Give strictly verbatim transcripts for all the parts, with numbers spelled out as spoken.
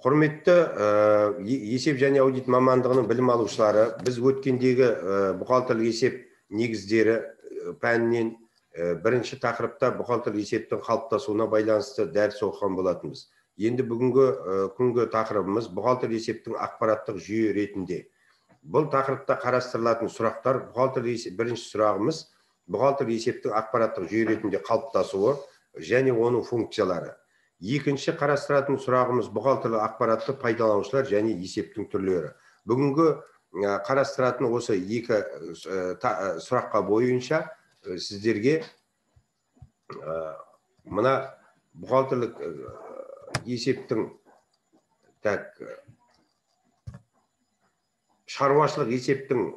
Құрметті есеп және аудит мамандығының білім алушылары, біз өткендегі бухгалтерлік есеп негіздері пәнінен бірінші тақырыпта бухгалтерлік есептің қалыптасуына байланысты дәріс оқыған болатынбыз. Енді бүгінгі күнгі тақырыбымыз бухгалтерлік есептің ақпараттық жүйе ретінде. Бұл тақырыпта қарастырылатын сұрақтар, бухгалтерлік есеп бірінші сұрағымыз бухгалтерлік есептің ақпараттық жүйе ретінде қалыптасуы және оның функциялары. Екінші қарастыратын сұрағымыз бухгалтерлік ақпаратты пайдаланушылар және есептің түрлері. Бүгінгі қарастыратын осы екі сұраққа бойынша сіздерге мына бухгалтерлік есептің шаруашылық есептің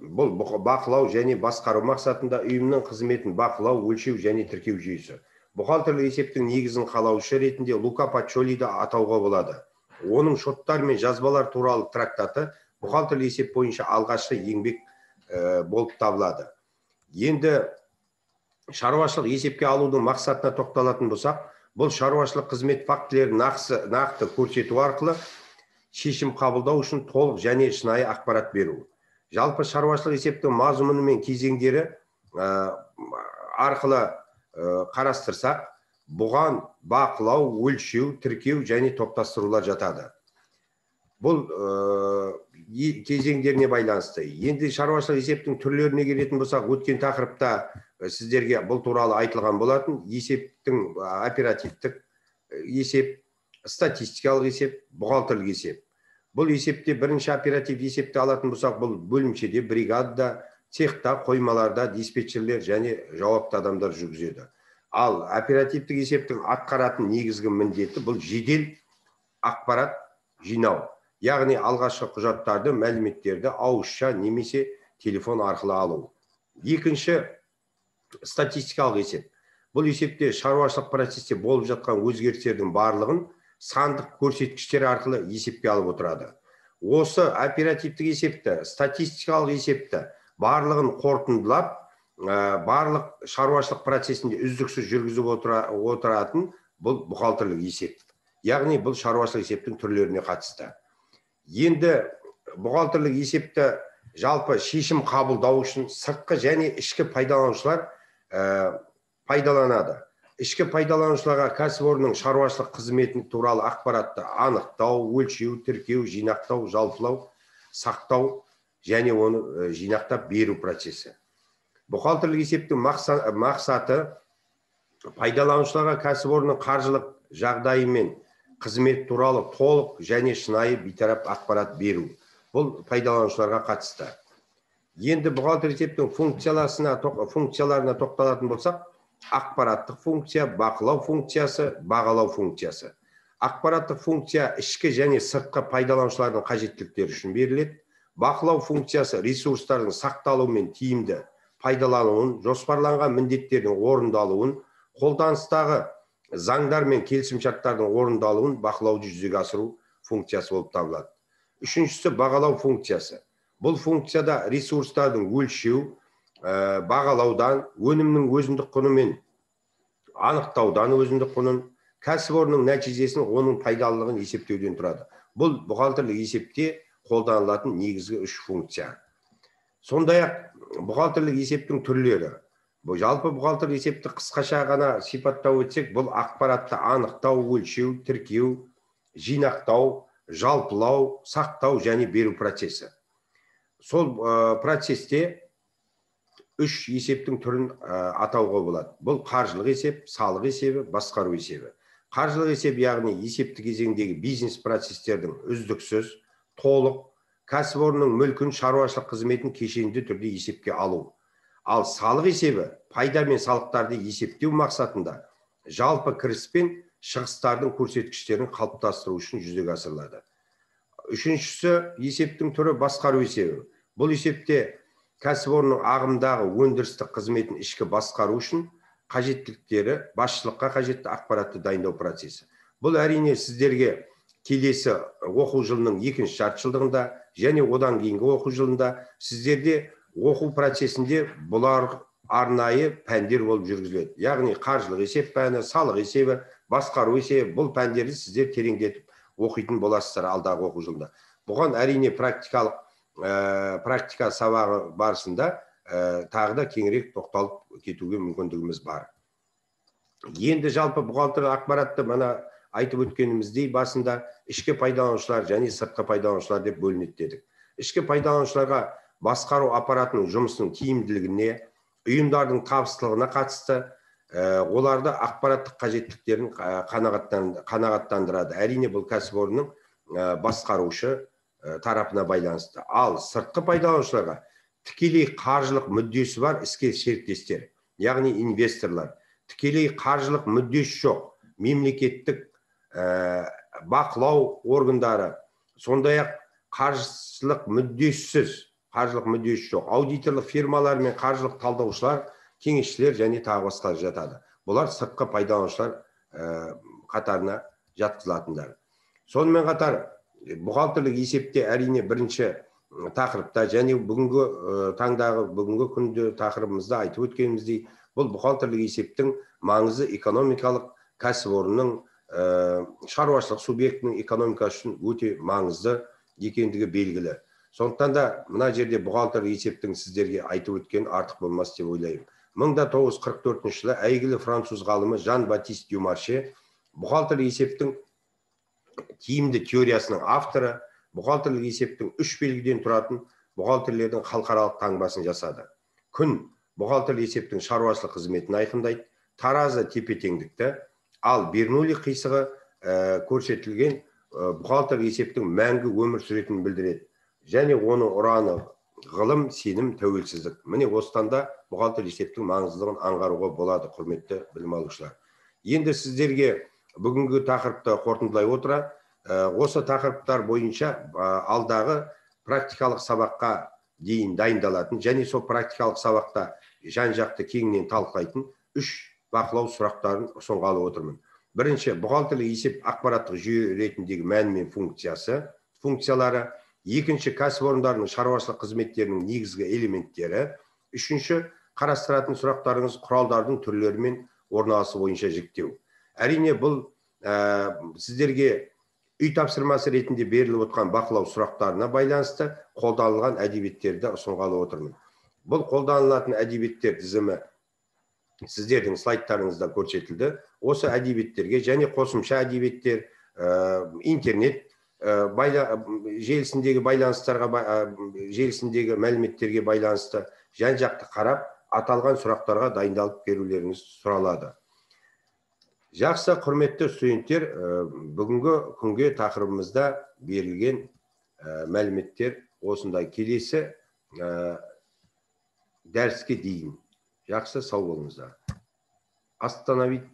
бұл бақылау және басқару мақсатында ұйымның қызметін бақылау, өлшеу және тіркеу жүйесі. Бухгалтерлік есептің негізін қалаушы ретінде Лука Паччолиді атауға болады. Оның шоттар мен жазбалар туралы трактаты бухгалтерлік есеп бойынша алғашқы еңбек болып табылады. Енді шаруашылық есепке алудың мақсатына тоқталатын болсақ, бұл шаруашылық қызмет фактілерін нақты көрсету арқылы шешім қабылдау үшін толық және шынайы ақпарат беру. Жалпы шаруашылық есептің мазмұны мен кезеңдері арқылы қарастырсақ, бұған бақылау, өлшеу, тіркеу және топтастырулар жатады. Бұл кезеңдеріне байланысты. Енді шаруашылық есептің түрлеріне келетін болсақ, өткен тақырыпта сіздерге бұл туралы айтылған болатын. Есептің оперативтік есеп, статистикалық есеп, бухгалтерлік есеп. Бұл есепте бірінші оператив есепті алатын болсақ, бұл бөлімшеде, бригадада, цехта, қоймаларда диспетчерлер және жауапты адамдар жүргізеді. Ал оперативтік есептің атқаратын негізгі міндеті бұл жедел ақпарат жинау. Яғни алғашқы құжаттарды, мәліметтерді ауызша немесе телефон арқылы алу. Екінші статистикалық есеп. Бұл есепте шаруашылық процесте болып жатқан өзгерістердің барлығын сандық көрсеткіштер арқылы есепке алып отырады. Осы оперативтік есепті, статистикалық есепті барлығын қорытындылап, барлық шаруашылық процесінде үздіксіз жүргізіп отыратын бұл бухгалтерлік есеп. Яғни бұл шаруашылық есептің түрлеріне қатысты. Енді бухгалтерлік есепті жалпы шешім қабылдау үшін сыртқы және ішкі пайдаланушылар пайдаланады. Ішкі пайдаланушыларға кәсіпорынның шаруашылық қызметі туралы ақпаратты анықтау, өлшеу, тіркеу, жинақтау, жалпылау, сақтау және оны жинақтап беру процесі. Бухгалтерлік есептің мақсаты пайдаланушыларға кәсіпорынның қаржылық жағдайы мен қызмет туралы толық және шынайы бейтарап ақпарат беру. Бұл пайдаланушыларға қатысты. Енді бухгалтерлік есептің функцияларына тоқталатын болсақ, ақпараттық функция, бақылау функциясы, бағалау функциясы. Ақпараттық функция ішкі және сыртқы пайдаланушылардың қажеттіліктері үшін беріледі. Бақылау функциясы ресурстардың сақталуы мен тиімді пайдалануын, жоспарланған міндеттердің орындалуын, қолданыстағы заңдар мен келісімшарттардың орындалуын бақылауды жүзеге асыру функциясы болып табылады. Үшіншісі бағалау функциясы. Бұл функцияда ресурстардың өлшеу, бағалаудан, өнімнің өзіндік құны мен анықтаудан өзіндік құнын, кәсіпорынның нәтижесін, оның пайдалылығын есептеуден тұрады. Бұл бухгалтерлік есепте қолданылатын негізгі үш функция. Сондай-ақ бухгалтерлік есептің түрлері. Жалпы бухгалтерлік есепті қысқаша ғана сипаттау өтсек, бұл ақпаратты анықтау, өлшеу, тіркеу, жинақтау, жалпылау, сақтау және беру процесі. Сол процесте үш есептің түрін атауға болады. Бұл қаржылық есеп, салық есебі, басқару есебі. Қаржылық есеп, яғни есепті кезеңдегі бизнес процестердің үздіксіз, толық, кәсіпорынның мүлкін, шаруашылық қызметін кешенді түрде есепке алу. Ал салық есебі пайда мен салықтарды есептеу мақсатында жалпы кіріс пен шығыстардың көрсеткіштерін қалыптастыру үшін жүзеге асырылады. Үшіншісі есептің түрі басқару есебі. Бұл есепте кәсіпорынның ағымдағы өндірістік қызметін ішкі басқару үшін қажеттіліктері, басшылыққа қажетті ақпаратты дайындау процесі. Бұл әрине сіздерге келесі оқу жылының екінші жартыжылдығында және одан кейінгі оқу жылында сіздерде оқу процесінде бұлар арнайы пәндер болып жүргізіледі. Яғни қаржылық есеп пәні, салық есебі, басқару есебі, бұл пәндерді сіздер тереңдетіп оқитын боласыздар алдағы оқу жылында. Бұған әрине практикалық практика сабағы барысында тағы да кеңірек тоқталып кетуге мүмкіндігіміз бар. Енді жалпы бухгалтерлік ақпаратты мана айтып өткеніміздей басында ішкі пайдаланушылар және сыртқы пайдаланушылар деп бөлінеді дедік. Ішкі пайдаланушыларға басқару аппаратының жұмысының тиімділігіне, ұйымдардың табыстылығына қатысты оларды ақпараттық қажеттіліктерін қанағаттандырады. Әрине бұл кәсіпорынның басқарушы тарапына байланысты. Ал сыртқы пайдаланушыларға тікелей қаржылық мүддесі бар іске серіктестер, яғни инвесторлар. Тікелей қаржылық мүддесі жоқ, мемлекеттік бақылау органдары, сондай-ақ қаржылық мүддесіз, қаржылық мүддесі жоқ, аудиторлық фирмалар мен қаржылық талдаушылар, кеңесшілер және тағы басқа жатады. Бұлар сыртқы пайдаланушылар қатарына жатқызылатындар. Сонымен қатар бухгалтерлік есепте әрине бірінші тақырыпта және бүгінгі таңдағы бүгінгі күнде тақырыбымызда айтып өткеніміздей, бұл бухгалтерлік есептің маңызы экономикалық кәсіпорынның шаруашылық субъектінің экономикасы үшін өте маңызды екендігі белгілі. Сондықтан да мына жерде бухгалтерлік есептің сіздерге айтып өткен артық болмас деп ойлаймын. мың тоғыз жүз қырық төртінші жылы әйгілі француз ғалымы Жан-Батист Дюмарше бухгалтерлік есептің тиімді теориясының авторы, бухгалтерлік есептің үш белгіден тұратын бухгалтерлердің халықаралық таңбасын жасады. Күн бухгалтерлік есептің шаруашылық қызметін айқындайды, таразы тепе-теңдікті, ал Бернулли қисығы көрсетілген бухгалтерлік есептің мәңгі өмір сүретінін білдіреді. Және оның ұраны ғылым, сенім, тәуелсіздік. Міне осыдан да бухгалтерлік есептің маңыздылығын аңғаруға болады, құрметті білім алушылар. Енді сіздерге бүгінгі тақырыпты қорытындылай отыра, осы тақырыптар бойынша алдағы практикалық сабаққа дейін дайындалатын және сол практикалық сабақта жан-жақты кеңінен талқылайтын үш бақылау сұрақтарын ұсынғалы отырмын. Бірінші, бухгалтерлік есеп ақпараттық жүйе ретіндегі мәні мен функциясы, функциялары. Екінші, кәсіпорындардың шаруашылық қызметтерінің негізгі элементтері. Үшінші, қарастыратын сұрақтарыңыз құралдардың түрлері мен орналасу бойынша жіктеу. Әрине бұл сіздерге үй тапсырмасы ретінде беріліп отқан бақылау сұрақтарына байланысты қолданылған әдебиеттерді ұсынғалы отырмын. Бұл қолданылатын әдебиеттер тізімі сіздердің слайдтарыңызда көрсетілді. Осы әдебиеттерге және қосымша әдебиеттер, интернет желісіндегі байланыстарға, желісіндегі мәліметтерге байланысты жан-жақты қарап, аталған сұрақтарға дайындалып берулеріңіз сұралады. Жақсы, құрметті студенттер, бүгінгі күнге тақырыбымызда берілген мәліметтер осындай. Келесі дәріске дейін. Жақсы, сау болыңыздар. Остановить.